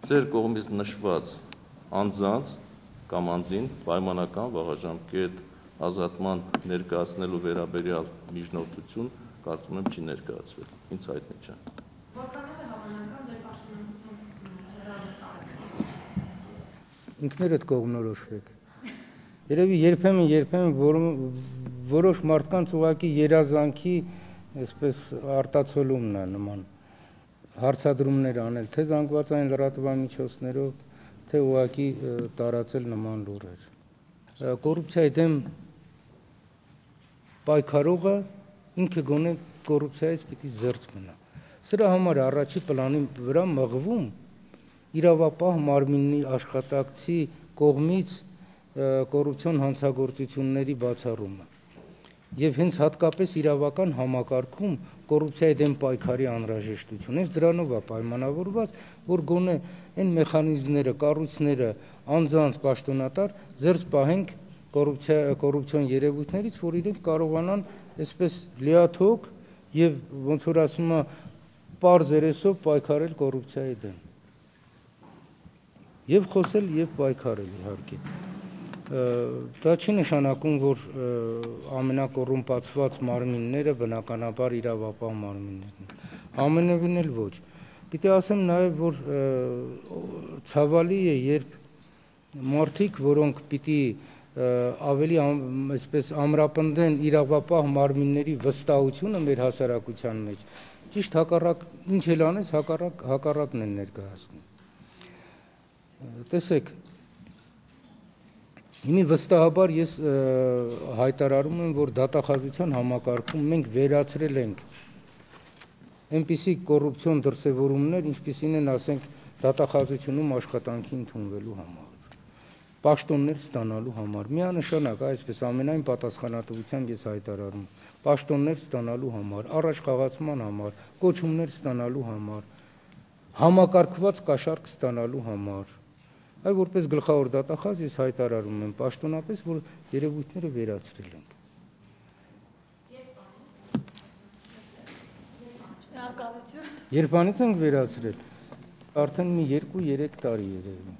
Ձեր կողմից նշված անձանց կամ անձին պայմանական վաղաժամկետ ազատման ներկայացնելու վերաբերյալ միջնորդություն կարծում եմ չի ներկայացվել, ինձ հայտնի չէ։ Որքանով է հավանական ձեր պաշտոնանկություն հրավիրել։ Ինքներդ կողմնորոշվեք։ Երևի երբեմն որոշ մարդկանց ուղղակի երազանքի այսպես արտացոլումն է նման հարցադրումներ անել, թե զանգվածային լրատվամիջոցներով, թե ուղղակի տարածել նման լուրեր։ Կոռուպցիայի դեմ պայքարողը ինքը գոնե կոռուպցիայից պիտի զերծ մնա։ Սրա համար առաջի պլանի վրա մղվում իրավապահ մարմինի աշխատակցի կողմից կոռուպցիոն հանցագործությունների բացառումը եւ հենց հատկապես իրավական համակարգում կոռուպցիայի դեմ պայքարի անհրաժեշտություն։ Հենց դրանով է պայմանավորված, որ գոնե այն մեխանիզմները, կառույցները, անձանց պաշտոնատար զերծ պահենք կոռուպցիոն երևույթներից, որ իրենք կարողանան այսպես լիաթոք եւ ոնց որ ասում է պարզ երեսով պայքարել կոռուպցիայի դեմ։ Եվ խոսել եւ պայքարել իհարկե։ Դա չի նշանակում, որ ամենակոռումպացված մարմինները բնականաբար իրավապահ մարմիններն են։ Ամենևին էլ ոչ։ Պիտի ասեմ նաեւ, որ ցավալի է, երբ մարդիկ, որոնք պիտի ավելի այսպես ամրապնդեն իրավապահ մարմինների վստահությունը մեր հասարակության մեջ, ճիշտ հակառակ ինչ էլ անես, հակառակն են ներկայացնում։ Տեսեք, հիմի վստահաբար ես հայտարարում եմ, որ դատախազության համակարգում մենք վերացրել ենք այնպիսի կոռուպցիոն դրսևորումներ, ինչպիսին են, ասենք, դատախազությունում աշխատանքի ընդունվելու համար, պաշտոններ ստանալու համար, միանշանակ այսպես ամենայն պատասխանատվությամբ ես հայտարարում, պաշտոններ ստանալու համար, առաջխաղացման համար, կոչումներ ստանալու համար, համակարգված կաշառք ստանալու համար, այ որպես գլխավոր դատախազ ես հայտարարում եմ պաշտոնապես, որ երևույթները վերացրել ենք։ Երբանից ենք վերացրել, արդեն մի 2-3 տարի երևի։